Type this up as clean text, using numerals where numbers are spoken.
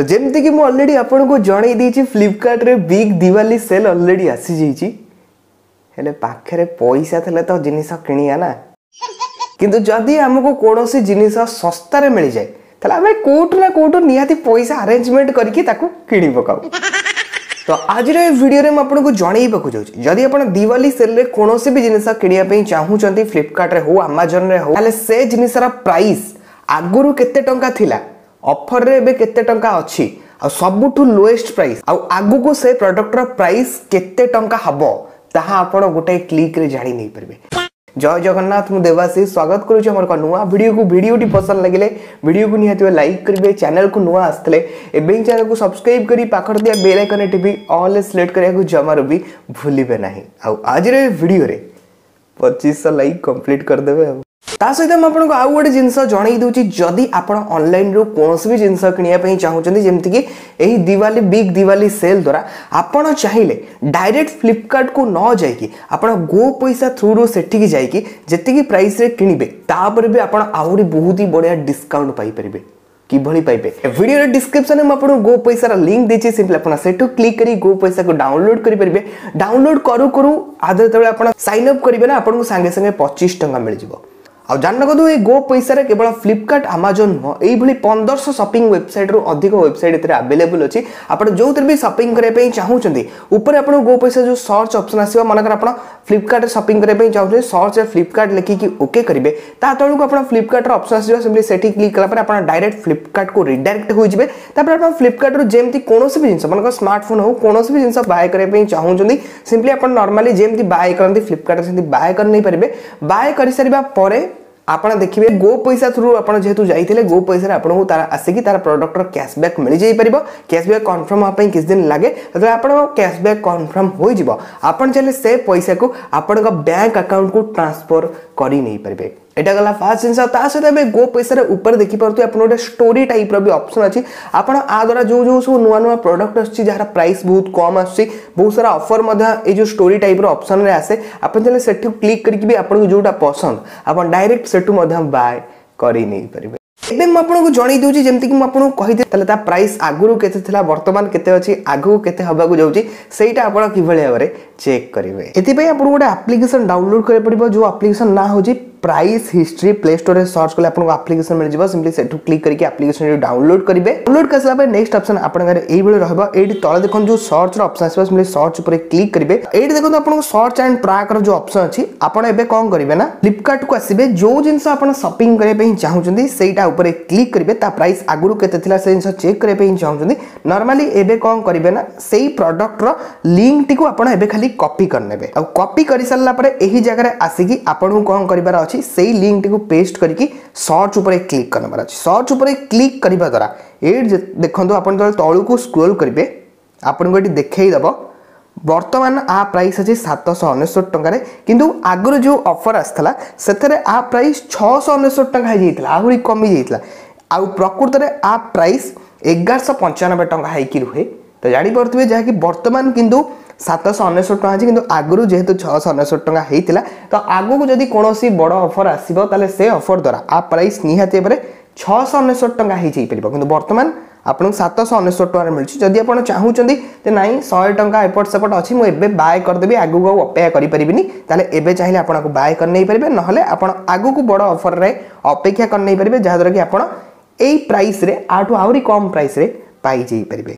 ତ ଯେମିତିକି ମୁଁ ଅଲରେଡ଼ି ଆପଣଙ୍କୁ ଜଣେଇ ଦେଇଛି, ଫ୍ଲିପକାର୍ଟରେ ବିଗ୍ ଦିୱାଲି ସେଲ୍ ଅଲରେଡ଼ି ଆସିଯାଇଛି। ହେଲେ ପାଖରେ ପଇସା ଥିଲେ ତ ଜିନିଷ କିଣିବା ନା। କିନ୍ତୁ ଯଦି ଆମକୁ କୌଣସି ଜିନିଷ ଶସ୍ତାରେ ମିଳିଯାଏ, ତାହେଲେ ଆମେ କେଉଁଠୁ ନା କେଉଁଠୁ ନିହାତି ପଇସା ଆରେଞ୍ଜମେଣ୍ଟ କରିକି ତାକୁ କିଣି ପକାଉ। ତ ଆଜିର ଏ ଭିଡ଼ିଓରେ ମୁଁ ଆପଣଙ୍କୁ ଜଣେଇବାକୁ ଯାଉଛି, ଯଦି ଆପଣ ଦିୱାଲି ସେଲ୍ରେ କୌଣସି ବି ଜିନିଷ କିଣିବା ପାଇଁ ଚାହୁଁଛନ୍ତି, ଫ୍ଲିପକାର୍ଟରେ ହଉ ଆମାଜନରେ ହଉ, ତାହେଲେ ସେ ଜିନିଷର ପ୍ରାଇସ୍ ଆଗରୁ କେତେ ଟଙ୍କା ଥିଲା, ଅଫରରେ ଏବେ କେତେ ଟଙ୍କା ଅଛି, ଆଉ ସବୁଠୁ ଲୋଏଷ୍ଟ ପ୍ରାଇସ୍, ଆଉ ଆଗକୁ ସେ ପ୍ରଡକ୍ଟର ପ୍ରାଇସ୍ କେତେ ଟଙ୍କା ହବ, ତାହା ଆପଣ ଗୋଟାଏ କ୍ଲିକ୍ରେ ଜାଣି ନେଇପାରିବେ। ଜୟ ଜଗନ୍ନାଥ, ମୁଁ ଦେବାଶିଷ ସ୍ୱାଗତ କରୁଛି ଆମର ଏକ ନୂଆ ଭିଡ଼ିଓକୁ। ଭିଡ଼ିଓଟି ପସନ୍ଦ ଲାଗିଲେ ଭିଡ଼ିଓକୁ ନିହାତି ଲାଇକ୍ କରିବେ। ଚ୍ୟାନେଲକୁ ନୂଆ ଆସିଥିଲେ ଏବେ ହିଁ ଚ୍ୟାନେଲକୁ ସବସ୍କ୍ରାଇବ୍ କରି ପାଖରେ ଥିବା ବେଲ୍ ଆଇକନ୍ ଟିପି ଅଲ୍ ସିଲେକ୍ଟ କରିବାକୁ ଜମାରୁ ବି ଭୁଲିବେ ନାହିଁ। ଆଉ ଆଜିର ଏ ଭିଡ଼ିଓରେ 2500 ଲାଇକ୍ କମ୍ପ୍ଲିଟ୍ କରିଦେବେ। ଆଉ ତା ସହିତ ମୁଁ ଆପଣଙ୍କୁ ଆଉ ଗୋଟେ ଜିନିଷ ଜଣେଇ ଦେଉଛି, ଯଦି ଆପଣ ଅନଲାଇନରୁ କୌଣସି ବି ଜିନିଷ କିଣିବା ପାଇଁ ଚାହୁଁଛନ୍ତି, ଯେମିତିକି ଏହି ଦିୱାଲି ବିଗ୍ ଦିୱାଲି ସେଲ୍ ଦ୍ୱାରା ଆପଣ ଚାହିଁଲେ ଡାଇରେକ୍ଟ ଫ୍ଲିପକାର୍ଟକୁ ନ ଯାଇକି ଆପଣ ଗୋ ପଇସା ଥ୍ରୁରୁ ସେଠିକି ଯାଇକି ଯେତିକି ପ୍ରାଇସ୍ରେ କିଣିବେ, ତାପରେ ବି ଆପଣ ଆହୁରି ବହୁତ ହି ବଢ଼ିଆ ଡିସ୍କାଉଣ୍ଟ ପାଇପାରିବେ। କିଭଳି ପାଇବେ? ଭିଡ଼ିଓର ଡିସ୍କ୍ରିପ୍ସନରେ ମୁଁ ଆପଣଙ୍କୁ ଗୋ ପଇସାର ଲିଙ୍କ୍ ଦେଇଛି। ସିମ୍ପଲି ଆପଣ ସେଠୁ କ୍ଲିକ୍ କରି ଗୋ ପଇସାକୁ ଡାଉନଲୋଡ୍ କରିପାରିବେ। ଡାଉନଲୋଡ୍ କରୁ କରୁ ଆଦ ଯେତେବେଳେ ଆପଣ ସାଇନ୍ ଅପ୍ କରିବେ ନା, ଆପଣଙ୍କୁ ସାଙ୍ଗେ ସାଙ୍ଗେ 25 ଟଙ୍କା ମିଳିଯିବ। ଆଉ ଜାଣି ରଖନ୍ତୁ, ଏଇ ଗୋ ପଇସାରେ କେବଳ ଫ୍ଲିପକାର୍ଟ ଆମାଜନ ନୁହଁ, ଏଇଭଳି 1500 ସପିଂ ୱେବସାଇଟ୍ରୁ ଅଧିକ ୱେବସାଇଟ୍ ଏଥିରେ ଆଭେଲେବୁଲ୍ ଅଛି। ଆପଣ ଯେଉଁଥିରେ ବି ସପିଂ କରିବା ପାଇଁ ଚାହୁଁଛନ୍ତି, ଉପରେ ଆପଣଙ୍କୁ ଗୋ ପଇସା ଯେଉଁ ସର୍ଚ୍ଚ ଅପସନ୍ ଆସିବ, ମନେକର ଆପଣ ଫ୍ଲିପକାର୍ଟରେ ସପିଂ କରିବା ପାଇଁ ଚାହୁଁଛନ୍ତି, ସର୍ଚ୍ଚରେ ଫ୍ଲିପକାର୍ଟ ଲେଖିକି ଓକେ କରିବେ, ତା ତଳକୁ ଆପଣ ଫ୍ଲିପକାର୍ଟର ଅପସନ୍ ଆସିବ। ସେମିତି ସେଠି କ୍ଲିକ୍ କଲା ପରେ ଆପଣ ଡାଇରେକ୍ଟ ଫ୍ଲିପକାର୍ଟକୁ ରିଡାଇରେକ୍ଟ ହୋଇଯିବେ। ତାପରେ ଆପଣ ଫ୍ଲିପକାର୍ଟରୁ ଯେମିତି କୌଣସି ବି ଜିନିଷ, ମନେକର ସ୍ମାର୍ଟଫୋନ୍ ହଉ, କୌଣସି ବି ଜିନିଷ ବାୟ କରିବା ପାଇଁ ଚାହୁଁଛନ୍ତି, ସିମ୍ପଲି ଆପଣ ନର୍ମାଲି ଯେମିତି ବାୟ କରନ୍ତି ଫ୍ଲିପକାର୍ଟରେ ସେମିତି ବାୟ କରି ନେଇପାରିବେ। ବାୟ କରିସାରିବା ପରେ ଆପଣ ଦେଖିବେ ଗୋ ପଇସା ଥ୍ରୁ ଆପଣ ଯେହେତୁ ଯାଇଥିଲେ, ଗୋ ପଇସାରେ ଆପଣଙ୍କୁ ତାର ଆସିକି ତାର ପ୍ରଡକ୍ଟର କ୍ୟାସବ୍ୟାକ୍ ମିଳିଯାଇପାରିବ। କ୍ୟାସବ୍ୟାକ୍ କନଫର୍ମ ହେବା ପାଇଁ କିଛି ଦିନ ଲାଗେ। ଯେତେବେଳେ ଆପଣଙ୍କ କ୍ୟାସବ୍ୟାକ୍ କନଫର୍ମ ହୋଇଯିବ, ଆପଣ ଚାହିଁଲେ ସେ ପଇସାକୁ ଆପଣଙ୍କ ବ୍ୟାଙ୍କ ଆକାଉଣ୍ଟକୁ ଟ୍ରାନ୍ସଫର କରି ନେଇପାରିବେ। ଏଇଟା ଗଲା ଫାର୍ଷ୍ଟ ଜିନିଷ। ତା ସହିତ ଏବେ ଗୋ ପଇସାର ଉପରେ ଦେଖିପାରୁଥିବେ ଆପଣ ଗୋଟେ ଷ୍ଟୋରି ଟାଇପ୍ର ବି ଅପସନ୍ ଅଛି। ଆପଣ ଆ ଦ୍ୱାରା ଯେଉଁ ଯେଉଁ ସବୁ ନୂଆ ନୂଆ ପ୍ରଡକ୍ଟ ଆସୁଛି, ଯାହାର ପ୍ରାଇସ୍ ବହୁତ କମ୍ ଆସୁଛି, ବହୁତ ସାରା ଅଫର୍ ମଧ୍ୟ ଏଇ ଯେଉଁ ଷ୍ଟୋରି ଟାଇପ୍ର ଅପସନ୍ରେ ଆସେ, ଆପଣ ଚାହିଁଲେ ସେଠୁ କ୍ଲିକ୍ କରିକି ବି ଆପଣଙ୍କୁ ଯେଉଁଟା ପସନ୍ଦ ଆପଣ ଡାଇରେକ୍ଟ ସେଠୁ ମଧ୍ୟ ବାଏ କରି ନେଇପାରିବେ। ଏବେ ମୁଁ ଆପଣଙ୍କୁ ଜଣେଇ ଦେଉଛି, ଯେମିତିକି ମୁଁ ଆପଣଙ୍କୁ କହିଥିଲି, ତାହେଲେ ତା ପ୍ରାଇସ୍ ଆଗରୁ କେତେ ଥିଲା, ବର୍ତ୍ତମାନ କେତେ ଅଛି, ଆଗକୁ କେତେ ହେବାକୁ ଯାଉଛି, ସେଇଟା ଆପଣ କିଭଳି ଭାବରେ ଚେକ୍ କରିବେ। ଏଥିପାଇଁ ଆପଣଙ୍କୁ ଗୋଟେ ଆପ୍ଲିକେସନ୍ ଡାଉନଲୋଡ୍ କରିବାକୁ ପଡ଼ିବ, ଯେଉଁ ଆପ୍ଲିକେସନ୍ ନାଁ ହେଉଛି ପ୍ରାଇସ୍ ହିଷ୍ଟ୍ରି। ପ୍ଲେ ଷ୍ଟୋରରେ ସର୍ଚ୍ଚ କଲେ ଆପଣଙ୍କୁ ଆପ୍ଲିକେସନ୍ ମିଳିଯିବ। ସିମ୍ପଲି ସେଠୁ କ୍ଲିକ୍ କରିକି ଆପ୍ଲିକେସନ୍ ଡାଉନଲୋଡ୍ କରିବେ। ଡାଉନଲୋଡ୍ କରିସାରିଲା ପରେ ନେକ୍ସଟ ଅପସନ୍ ଆପଣଙ୍କର ଏଇଭଳି ରହିବ। ଏଇଠି ତଳେ ଦେଖନ୍ତୁ ଯେଉଁ ସର୍ଚ୍ଚର ଅପସନ୍ ଆସିବ, ସିମ୍ପଲି ସର୍ଚ୍ଚ ଉପରେ କ୍ଲିକ୍ କରିବେ। ଏଇଠି ଦେଖନ୍ତୁ ଆପଣଙ୍କୁ ସର୍ଚ୍ଚ ଆଣ୍ଡ ଟ୍ରାକ୍ର ଯେଉଁ ଅପସନ୍ ଅଛି, ଆପଣ ଏବେ କ'ଣ କରିବେ ନା ଫ୍ଲିପକାର୍ଟକୁ ଆସିବେ, ଯେଉଁ ଜିନିଷ ଆପଣ ସପିଂ କରିବା ପାଇଁ ଚାହୁଁଛନ୍ତି ସେଇଟା ଉପରେ କ୍ଲିକ୍ କରିବେ। ତା ପ୍ରାଇସ୍ ଆଗରୁ କେତେ ଥିଲା ସେ ଜିନିଷ ଚେକ୍ କରିବା ପାଇଁ ଚାହୁଁଛନ୍ତି, ନର୍ମାଲି ଏବେ କ'ଣ କରିବେ ନା ସେଇ ପ୍ରଡକ୍ଟର ଲିଙ୍କଟିକୁ ଆପଣ ଏବେ ଖାଲି କପି କରିନେବେ। ଆଉ କପି କରିସାରିଲା ପରେ ଏହି ଜାଗାରେ ଆସିକି ଆପଣଙ୍କୁ କ'ଣ କରିବାର ଅଛି, ସେଇ ଲିଙ୍କଟିକୁ ପେଷ୍ଟ କରିକି ସର୍ଚ୍ଚ ଉପରେ କ୍ଲିକ୍ କରିନେବାର ଅଛି। ସର୍ଚ୍ଚ ଉପରେ କ୍ଲିକ୍ କରିବା ଦ୍ୱାରା ଏଇଠି ଦେଖନ୍ତୁ, ଆପଣ ଯେତେବେଳେ ତଳକୁ ସ୍କ୍ରୋଲ୍ କରିବେ ଆପଣଙ୍କୁ ଏଠି ଦେଖେଇଦେବ, ବର୍ତ୍ତମାନ ଆ ପ୍ରାଇସ୍ ଅଛି 799 ଟଙ୍କାରେ, କିନ୍ତୁ ଆଗରୁ ଯେଉଁ ଅଫର୍ ଆସିଥିଲା ସେଥିରେ ଆ ପ୍ରାଇସ୍ 699 ଟଙ୍କା ହେଇଯାଇଥିଲା, ଆହୁରି କମିଯାଇଥିଲା। ଆଉ ପ୍ରକୃତରେ ଆ ପ୍ରାଇସ୍ 1195 ଟଙ୍କା ହେଇକି ରୁହେ। ତ ଜାଣିପାରୁଥିବେ, ଯାହାକି ବର୍ତ୍ତମାନ କିନ୍ତୁ 799 ଟଙ୍କା ଅଛି, କିନ୍ତୁ ଆଗରୁ ଯେହେତୁ 699 ଟଙ୍କା ହେଇଥିଲା, ତ ଆଗକୁ ଯଦି କୌଣସି ବଡ଼ ଅଫର୍ ଆସିବ ତାହେଲେ ସେ ଅଫର୍ ଦ୍ୱାରା ଆ ପ୍ରାଇସ୍ ନିହାତି ଭାବରେ 699 ଟଙ୍କା ହେଇଯାଇପାରିବ। କିନ୍ତୁ ବର୍ତ୍ତମାନ ଆପଣଙ୍କୁ 799 ଟଙ୍କାରେ ମିଳୁଛି। ଯଦି ଆପଣ ଚାହୁଁଛନ୍ତି ଯେ ନାଇଁ, 100 ଟଙ୍କା ଏପଟ ସେପଟ ଅଛି, ମୁଁ ଏବେ ବାୟ କରିଦେବି, ଆଗକୁ ଆଉ ଅପେକ୍ଷା କରିପାରିବିନି, ତାହେଲେ ଏବେ ଚାହିଁଲେ ଆପଣଙ୍କୁ ବାୟ କରି ନେଇପାରିବେ। ନହେଲେ ଆପଣ ଆଗକୁ ବଡ଼ ଅଫରରେ ଅପେକ୍ଷା କରି ନେଇପାରିବେ, ଯାହାଦ୍ୱାରା କି ଆପଣ ଏଇ ପ୍ରାଇସ୍ରେ ଆଠୁ ଆହୁରି କମ୍ ପ୍ରାଇସ୍ରେ ପାଇଯାଇପାରିବେ।